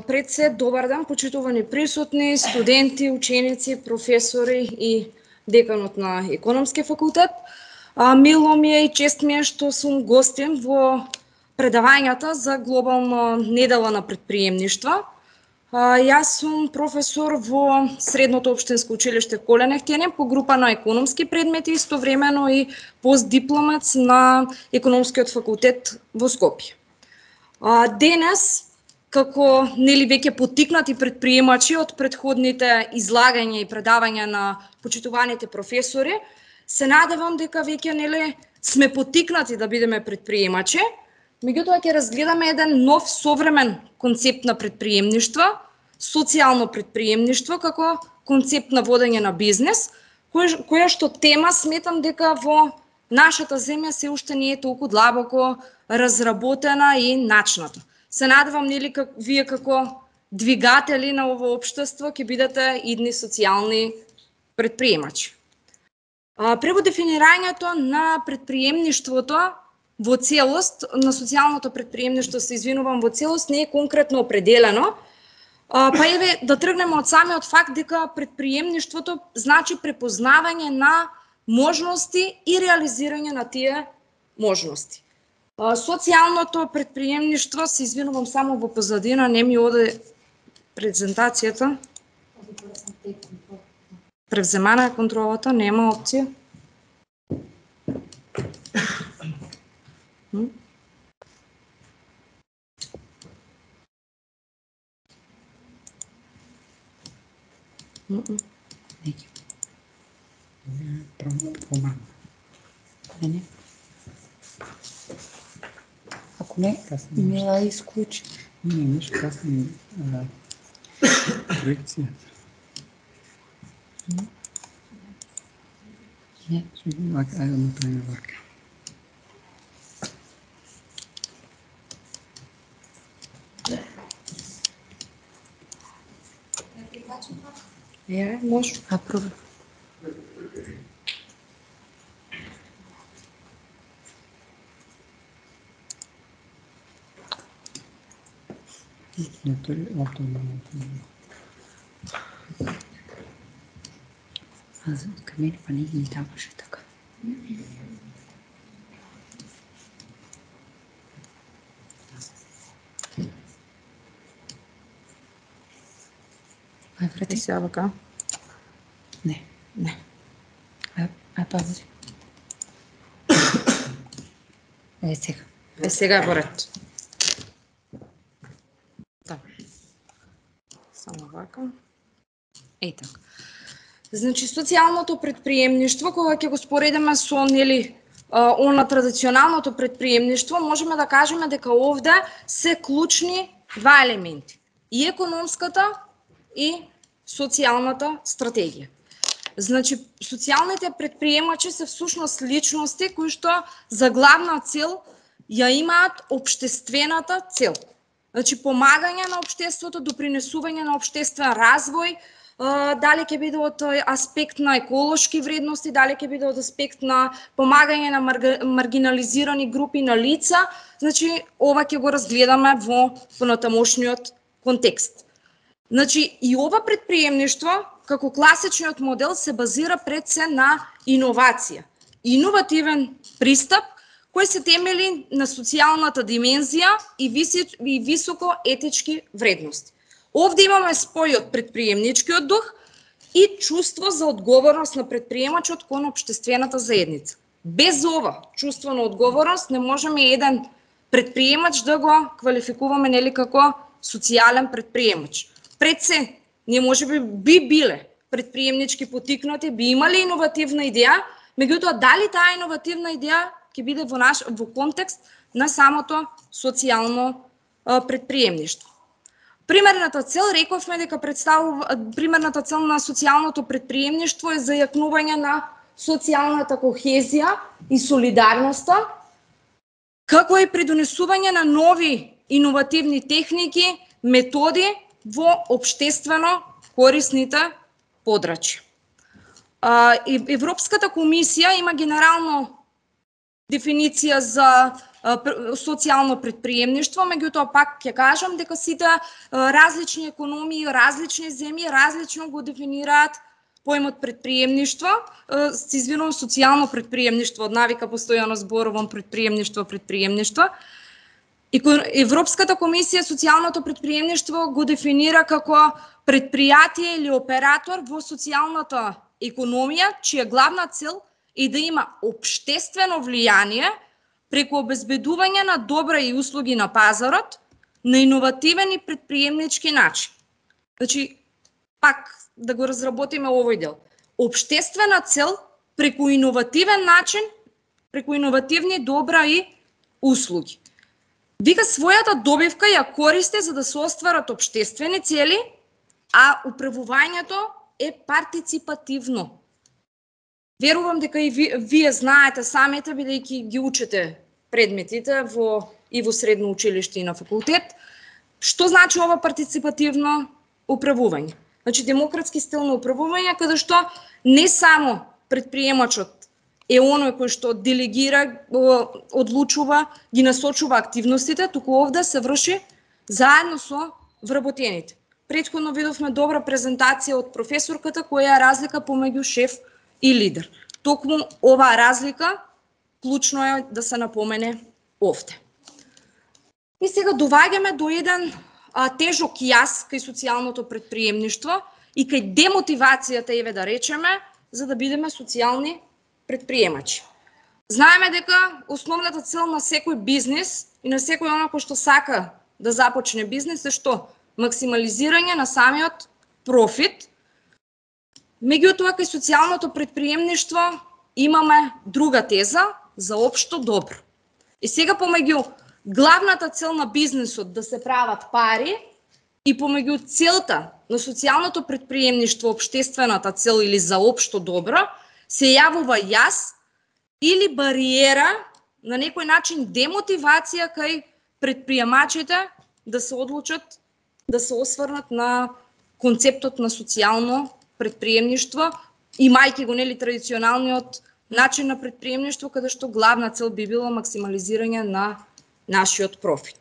Пред се, добар ден, почитувани присутни, студенти, ученици, професори и деканот на Економски факултет. Мило ми е и чест ми е што сум гостин во предавањата за глобална недела на предприемништва. Јас сум професор во Средното општинско училиште Колен Ефтијанин по група на економски предмети, истовремено и постдипломец на Економскиот факултет во Скопје. Денес, како веќе поттикнати предприемачи од претходните излагања и предавања на почитуваните професори, се надевам дека веќе сме поттикнати да бидеме предприемачи. Меѓутоа ќе разгледаме еден нов современ концепт на предприемништво, социјално предприемништво како концепт на водење на бизнес, која што тема сметам дека во нашата земја се уште не е толку длабоко разработена и начната. Се надевам вие како двигатели на ово општество ќе бидете идни социјални предприемачи. Прво дефинирањето на предприемништвото во целост, на социјалното предприемништво, се извинувам, во целост не е конкретно определено. Па еве да тргнеме од самиот факт дека предприемништвото значи препознавање на можности и реализирање на тие можности. Социјалното предприемништво, се извинувам само во позадина, не ми оде презентацијата. Превземана е контролата, нема опција. Ако не, не ја исклучи. Не, имаш касна проекција. Не. Ајде да направиме вака. Може. Пробај. Не, тој автоматно. Кај мене па не ги даваше така. Ај, врати. Сега вака. Не. Не. Ај, пази. Сега. Сега е поред. Само вака. Така. Значи, социјалното предприемништво, кога ќе го споредиме со она традиционалното предприемништво, можеме да кажеме дека овде се клучни два елементи. И економската и социјалната стратегија. Значи, социјалните предприемачи се всушност личности кои што за главна цел ја имаат општествената цел. Значи, помагање на општеството, допринесување на општествен развој, дали ќе биде од аспект на еколошки вредности, дали ќе биде од аспект на помагање на маргинализирани групи на лица. Значи, ова ќе го разгледаме во понатамошниот контекст. Значи, и ова предприемништво, како класичниот модел, се базира пред се на иновација. Иновативен пристап кој се темели на социјалната димензија и високо етички вредности. Овде имаме спој од предприемничкиот дух и чувство за одговорност на предприемачот кон општествената заедница. Без ова чувство на одговорност не можеме еден предприемач да го квалификуваме како социјален предприемач. Пред се, ние можеби би биле предприемнички поттикнати, би имале иновативна идеја, меѓутоа дали таа иновативна идеја ќе биде во контекст на самото социјално предприемништво. Примерната цел, рековме дека примерната цел на социјалното предприемништво е зајакнување на социјалната кохезија и солидарноста, како и придонесување на нови иновативни техники, методи во општествено корисните подрачја. Европската комисија има генерално дефиниција за социјално претприемништво, меѓутоа пак ќе кажам дека сите различни економии, различни земји различно го дефинираат поимот претприемништво. Се извинувам, социјално претприемништво, од навика постојано зборувам претприемништво. Европската комисија социјалното претприемништво го дефинира како предпријатие или оператор во социјалната економија, чија главна цел е да има општествено влијание преку обезбедување на добра и услуги на пазарот на иновативен и претприемнички начин. Значи, пак да го разработиме овој дел. Општествена цел преку иновативен начин, преку иновативни добра и услуги. Вика својата добивка ја користи за да се остварат општествени цели, а управувањето е партиципативно. Верувам дека и вие знаете самите, бидејќи ги учите предметите и во средно училиште и на факултет, што значи ова партиципативно управување. Значи демократски стил на управување, каде што не само предприемачот е оној кој што делегира, одлучува, ги насочува активностите, туку овде се врши заедно со вработените. Претходно видовме добра презентација од професорката која е разлика помеѓу шеф и лидер. Токму оваа разлика клучно е да се напомене овде. И сега доваѓаме до еден тежок јас кај социјалното претприемништво и кај демотивацијата, еве да речеме, за да бидеме социјални предприемачи. Знаеме дека основната цел на секој бизнис и на секој оној кој што сака да започне бизнис е што? Максимализирање на самиот профит. Меѓутоа, кај социјалното претприемништво имаме друга теза за општо добро. И сега помеѓу главната цел на бизнисот да се прават пари и помеѓу целта на социјалното претприемништво, општествената цел или за општо добро, се јавува јас или бариера, на некој начин демотивација кај предприемачите да се одлучат да се осврнат на концептот на социјално претприемништво, имајќи го нели традиционалниот начин на претприемништво, каде што главна цел би било максимализирање на нашиот профит.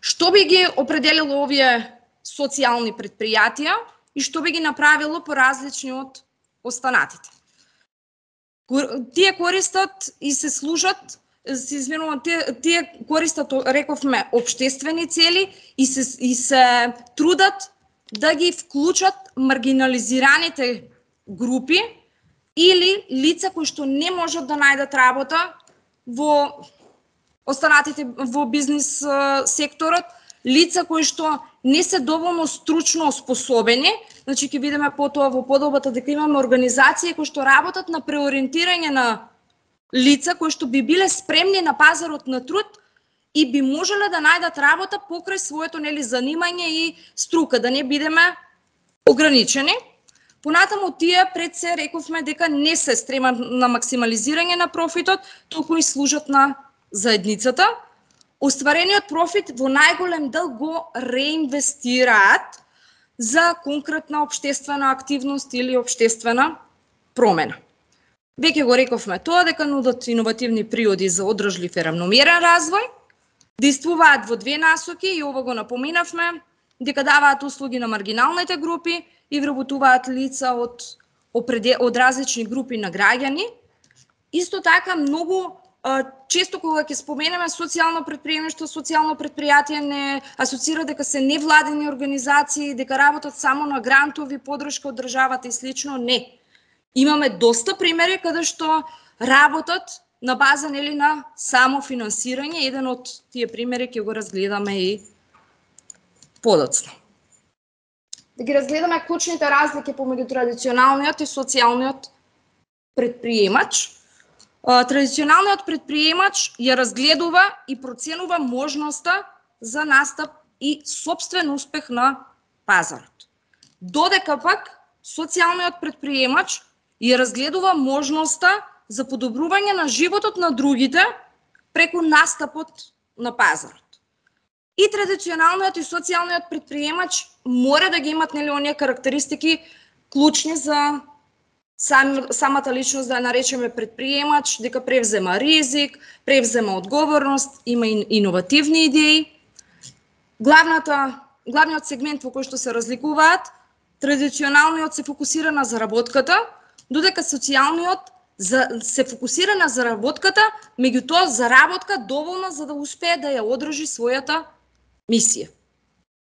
Што би ги определило овие социјални предпријатија и што би ги направило поразлични од останатите? Тие користат и се служат, тие користат, рековме, општествени цели и се трудат да ги вклучат маргинализираните групи или лица кои што не можат да најдат работа во останатите во бизнис секторот, лица кои што не се доволно стручно способени. Значи ќе видиме потоа во подобата дека имаме организации кои што работат на преориентирање на лица кои што би биле спремни на пазарот на труд и би можеле да најдат работа покрај своето нели занимање и струка, да не бидеме ограничени. Понатаму тие пред се рековме дека не се стремат на максимализирање на профитот, туку и служат на заедницата. Остварениот профит во најголем дел го реинвестираат за конкретна општествена активност или општествена промена. Веќе го рековме тоа дека нудат иновативни приоди за одржлив и равномерен развој, действуваат во две насоки и ова го напоминавме, дека даваат услуги на маргиналните групи и вработуваат лица од различни групи на граѓани. Исто така многу често кога ќе споменеме социјално претприемништво, социјално претпријатие не асоцира дека се невладени организации, дека работат само на грантови, подршка од државата и слично. Не. Имаме доста примери каде што работат на база нели на самофинансирање. Еден од тие примери ќе го разгледаме и подоцна. Да ги разгледаме клучните разлики помеѓу традиционалниот и социјалниот претприемач. Традиционалниот претприемач ја разгледува и проценува можноста за настап и сопствен успех на пазарот. Додека пак социјалниот претприемач ја разгледува можноста за подобрување на животот на другите преку настапот на пазарот. И традиционалниот и социјалниот претприемач мора да ги имат нели оние карактеристики клучни за самата личност да ја наречеме предприемач, дека превзема ризик, превзема одговорност, има иновативни идеи. Главниот сегмент во кој што се разликуваат, традиционалниот се фокусира на заработката, додека социјалниот се фокусира на заработката, меѓутоа заработка доволна за да успее да ја одржи својата мисија.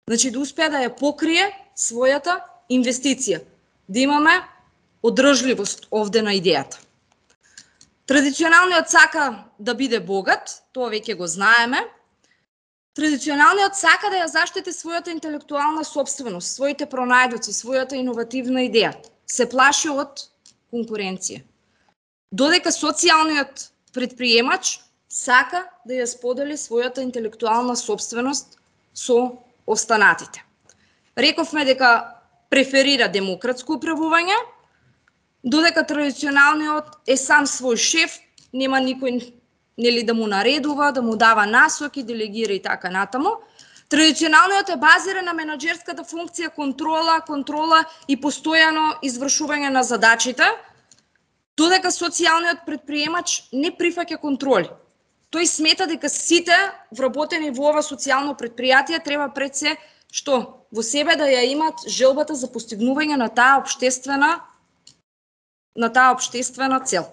Значи да успее да ја покрие својата инвестиција, да имаме одржливост овде на идејата. Традиционалниот сака да биде богат, тоа веќе го знаеме. Традиционалниот сака да ја заштити својата интелектуална собственост, своите пронајдоци, својата иновативна идеја. Се плаши од конкуренција. Додека социјалниот предприемач сака да ја сподели својата интелектуална собственост со останатите. Рековме дека преферира демократско управување, додека традиционалниот е сам свој шеф, нема никој да му наредува, да му дава насоки, делегира и така натаму. Традиционалниот е базиран на менаџерската функција контрола и постојано извршување на задачите, додека социјалниот предприемач не прифаќа контроли. Тој смета дека сите вработени во ова социјално предпријатие треба пред се што во себе да ја имат желбата за постигнување на таа општествена цел.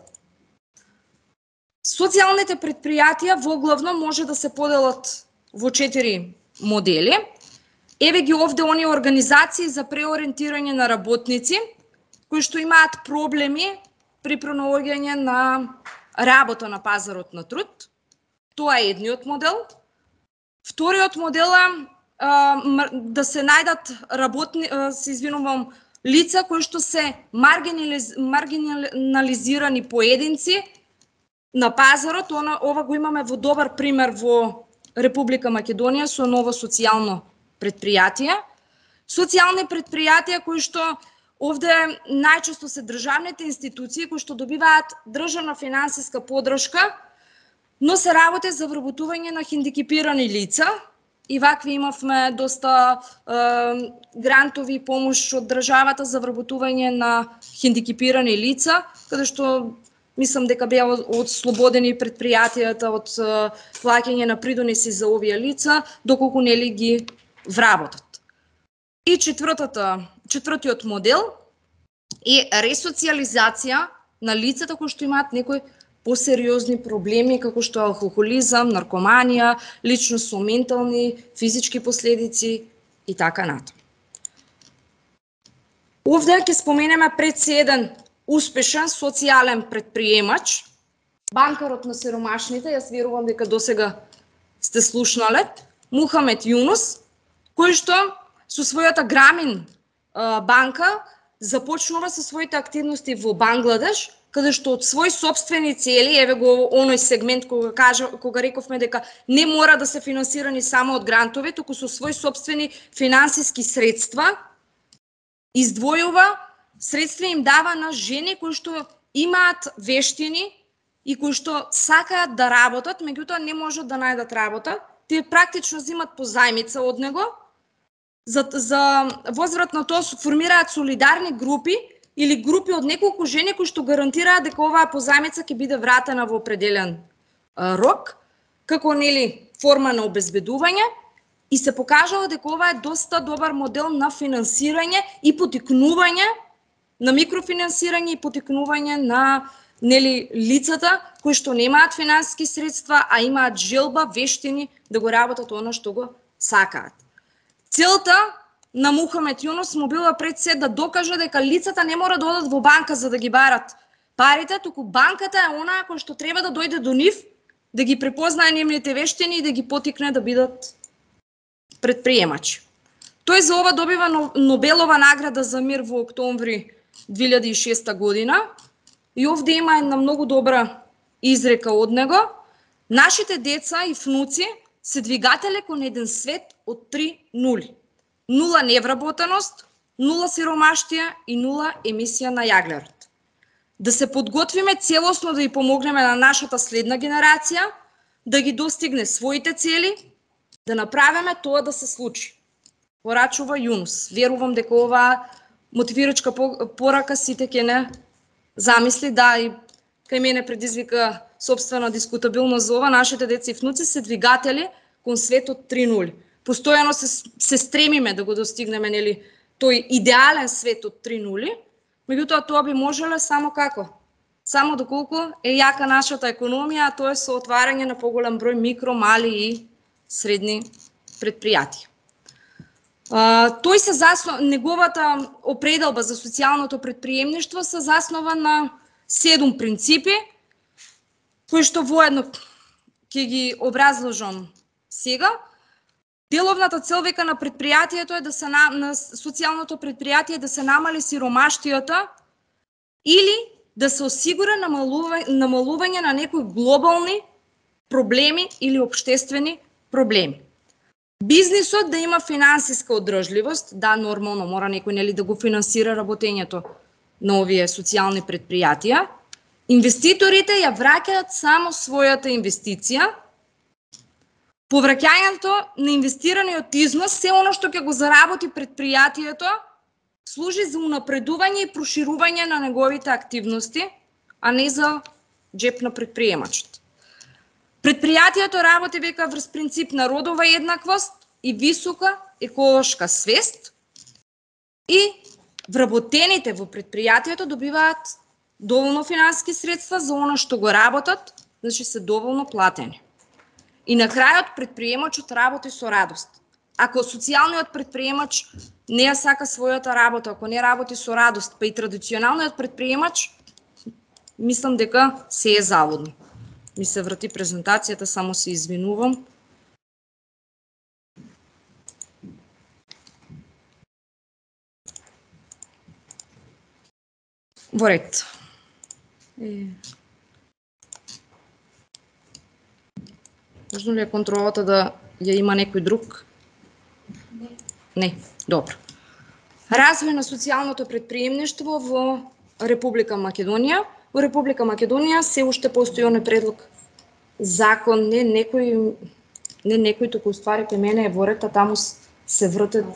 Социјалните предпријатија воглавно може да се поделат во 4 модели. Еве ги овде оние организации за преориентирање на работници кои што имаат проблеми при пронаоѓање на работа на пазарот на труд. Тоа е едниот модел. Вториот модел е да се најдат лица кои што се маргинализирани поединци на пазарот. Ова го имаме во добар пример во Република Македонија со ново социјално предпријатие. Социјални предпријатија кои што овде најчесто се државните институции кои што добиваат државна финансиска поддршка, но се работи за вработување на хендикепирани лица. И вакви имавме доста грантови и помош од државата за вработување на хендикепирани лица, каде што мислам дека беа ослободени предпријатијата од плаќање на придонеси за овие лица, доколку нели ги вработат. И четвртиот модел е ресоциализација на лицата кои што имаат некои посериозни проблеми, како што алкохолизам, наркоманија, личност со ментални, физички последици и така натаму. Овде ќе споменеме пред се еден успешен социјален предприемач, банкарот на сиромашните, јас верувам дека досега сте слушнале, Мухамед Јунус, кој што со својата Грамин банка започнува со своите активности во Бангладеш, каде што од своји сопствени цели, еве го оној сегмент кога рековме дека не мора да се финансирани само од грантови, туку со своји сопствени финансиски средства издвојува средства, им дава на жени кои што имаат вештини и кои што сакаат да работат, меѓутоа не можат да најдат работа. Тие практично земат позајмица од него. За возврат на тоа формираат солидарни групи или групи од неколку жени кои што гарантираат дека оваа позајмица ќе биде вратена во определен рок, како нели форма на обезбедување, и се покажало дека ова е доста добар модел на финансирање и потикнување на микрофинансирање и потикнување на нели лицата кои што немаат финансиски средства, а имаат желба, вештини да го работат она што го сакаат. Целта на Мухамед Јунус му била пред се да докаже дека лицата не мора да одат во банка за да ги барат парите, туку банката е онаа која што треба да дојде до нив, да ги препознае нивните вештини и да ги потикне да бидат предприемачи. Тој за ова добива Нобелова награда за мир во октомври 2006 година и овде има една многу добра изрека од него. Нашите деца и внуци се двигателе кон еден свет од 3 нули. 0 невработеност, 0 сиромаштија и 0 емисија на јаглерот. Да се подготвиме целосно да ја помогнеме на нашата следна генерација, да ги достигне своите цели, да направиме тоа да се случи. Порачува Јунус. Верувам дека оваа мотивирачка порака сите ќе не замисли, да, и кај мене предизвика собствена дискутабилност за ова, нашите деца и внуци се двигатели кон светот 3.0. Постојано се стремиме да го достигнеме, нели, тој идеален свет од 3.0, меѓутоа тоа би можеле само како? Само доколку е јака нашата економија, а тоа е со отварање на поголем број микро, мали и средни предпријатија. Неговата определба за социјалното предприемништво се заснова на 7 принципи, кои што воедно ќе ги образложам сега. Деловната цел века на предпријатието е на социјалното предпријатие да се намали сиромаштијата или да се осигура намалување на некои глобални проблеми или општествени проблеми. Бизнисот да има финансиска одржливост, да, нормално мора некој, нели, да го финансира работењето на овие социјални предпријатија. Инвеститорите ја враќаат само својата инвестиција. Повраќањето на инвестираниот износ, се оно што ќе го заработи предпријатието, служи за унапредување и проширување на неговите активности, а не за джеп на предприемачот. Предпријатието работи века врз принцип на родова еднаквост и висока еколошка свест и вработените во предпријатието добиваат доволно финансиски средства за оно што го работат, значи се доволно платени. И на крајот предприемачот работи со радост. Ако социјалниот предприемач не ја сака својата работа, ако не работи со радост, па и традиционалниот предприемач, мислам дека се е залудно. Ми се врати презентацијата, само се извинувам. Во ред. Можно ли е контролата да ја има некој друг? Не. Добро. Развој на социјалното предприемништво во Република Македонија. Во Република Македонија се уште постои оној предлог закон, не некој туку ствари кај мене е во ред, а таму се вртат.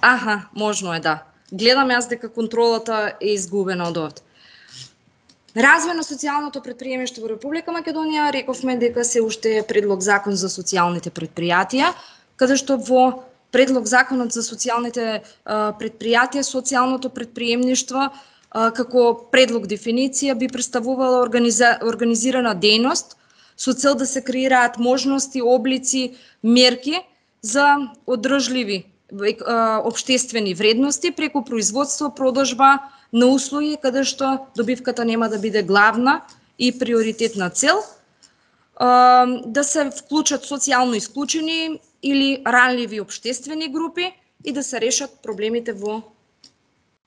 Аха, можно е, да. Гледам јас дека контролата е изгубена од овде. Развој на социјалното предприемништво во Република Македонија, рековме дека се уште е предлог закон за социјалните предпријатија, каде што во предлог законот за социјалните предпријатија, социјалното предприемништво како предлог дефиниција би представувала организирана дејност со цел да се креираат можности, облици, мерки за одржливи општествени вредности преку производство, продажба на услуги, каде што добивката нема да биде главна и приоритетна цел, да се вклучат социјално исклучени или ранливи општествени групи и да се решат проблемите во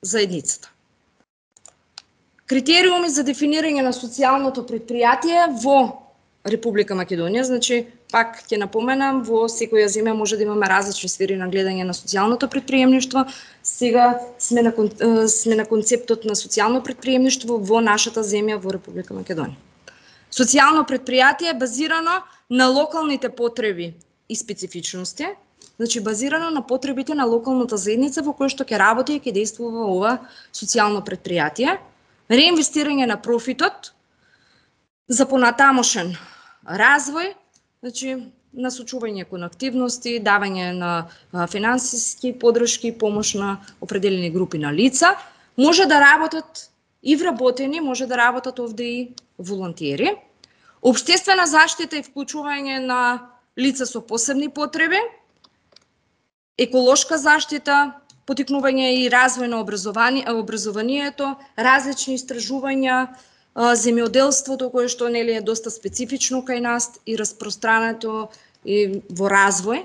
заедницата. Критериуми за дефинирање на социјалното предпријатие во Република Македонија, значи, пак ќе напоменам, во секоја земја може да имаме различни сфери на гледање на социјалното предприемништво. Сега сме на концептот на социјално предприемништво во нашата земја, во Република Македонија. Социјално предпријатие е базирано на локалните потреби и специфичности, значи базирано на потребите на локалната заедница во која што ќе работи и ќе действува ова социјално предпријатие. Реинвестирање на профитот за понатамошен развој, значи насочување кон активности, давање на финансиски подршки, помош на определени групи на лица, може да работат и вработени, може да работат овде и волонтери. Општествена заштита и вклучување на лица со посебни потреби, еколошка заштита, потикнување и развој на образованието, различни истражувања, земјоделството кое што нели е доста специфично кај нас и распространето и во развој,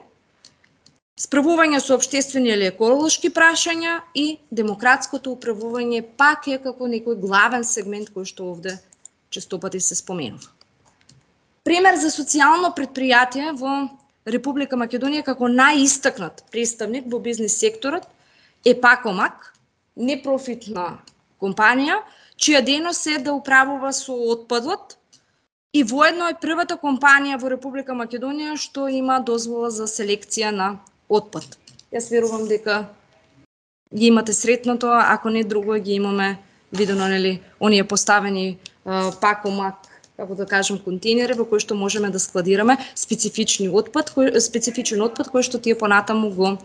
справување со општествени или еколошки прашања и демократското управување пак е како некој главен сегмент кој што овде честопати се споменува. Пример за социјално предпријатие во Република Македонија како најистакнат представник во бизнис секторот е Пакомак, непрофитна компанија, чија дејност е да управува со отпадот и воедно е првата компанија во Република Македонија што има дозвола за селекција на отпад. Јас верувам дека ги имате сретното, ако не друго ги имаме видено, нели, оние поставени пакомак, како да кажем, контейнери во кои што можеме да складираме специфичен отпад кој што тие понатаму го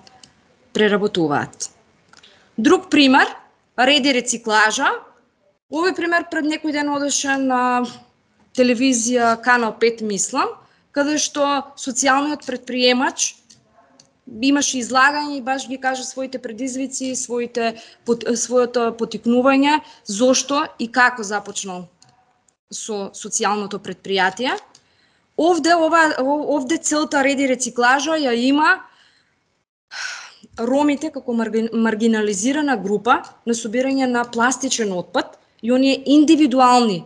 преработуваат. Друг пример, ред и рециклажа. Овој пример пред некој ден одеше на телевизија Канал 5, мислам, каде што социјалниот предприемач имаше излагање и баш ги кажа своите предизвици, своето потикнување, зошто и како започнал со социјалното предпријатие. Овде целта ред и рециклажа ја има ромите како маргинализирана група на собирање на пластичен отпад и оние индивидуални,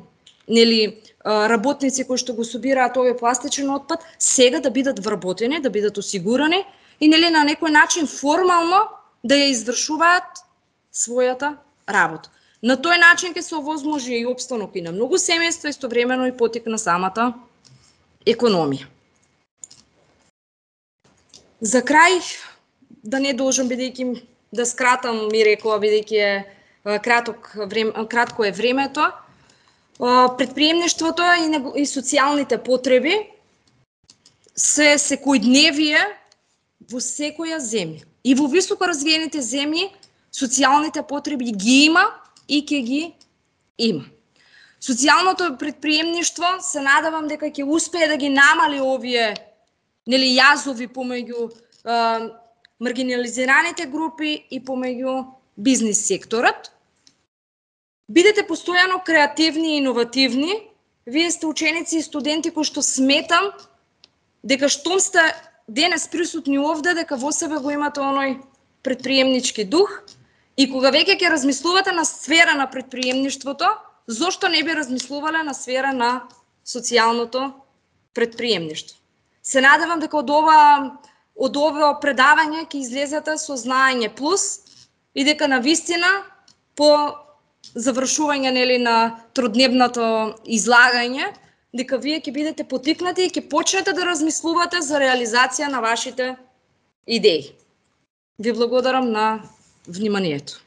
нели, работници кои што го собираат овој пластичен отпад, сега да бидат вработени, да бидат осигурани и, нели, на некој начин формално да ја извршуваат својата работа. На тој начин ќе се овозможи и опстанок и на многу семејства, истовремено и потик на самата економија. За крај, да не должам, бидејќи да скратам, ми рекла, бидејќи е кратко е времето, предприемништвото и социјалните потреби се секојдневие во секоја земја. И во високо развиените земји социјалните потреби ги има и ќе ги има. Социјалното предприемништво се надевам дека ќе успее да ги намали овие, нели, јазови помеѓу маргинализираните групи и помеѓу бизнис секторот. Бидете постојано креативни и иновативни. Вие сте ученици и студенти кои што сметам дека штом сте денес присутни овде, дека во себе го имате оној предприемнички дух и кога веќе ќе размислувате на сфера на предприемништвото, зошто не би размислувале на сфера на социјалното предприемништво. Се надевам дека од ова предавање ќе излезете со знаење плюс и дека навистина по завршување, нели, на тродневното излагање, дека вие ќе бидете потикнати и ќе почнете да размислувате за реализација на вашите идеи. Ви благодарам на вниманието.